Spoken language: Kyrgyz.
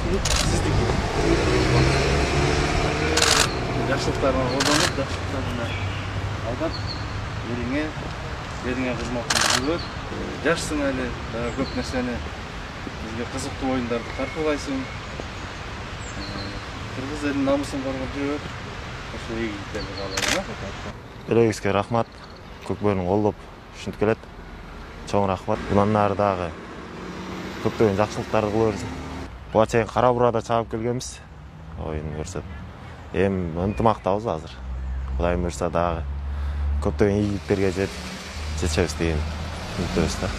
көпчүлүк сиздики. Жакшылыктарыңа колдонуп, жакшылыктарыңа алдап, элиңе кызматыңды жүргөз. Жашсың эле, көп нерсени бизге кызыктуу оюндарды тартуулайсың. Кыргыз элинин намысын коргоп жүрөт. Ошо ийгиликтерди каалайм. Элегибизге рахмат. Көкбөрүн колдоп ушинтип келет. Чоң рахмат. Мындан ары дагы көптөгөн жакшылыктарды кыла берсин. Буга чейин Кара Буурада чабып келгенбиз. Оюн көрсөт. Эми ынтымактабыз азыр. Кудайым буйрса дагы көптөгөн ийгиликтерге жетишебиз деген үмүттөбүз да.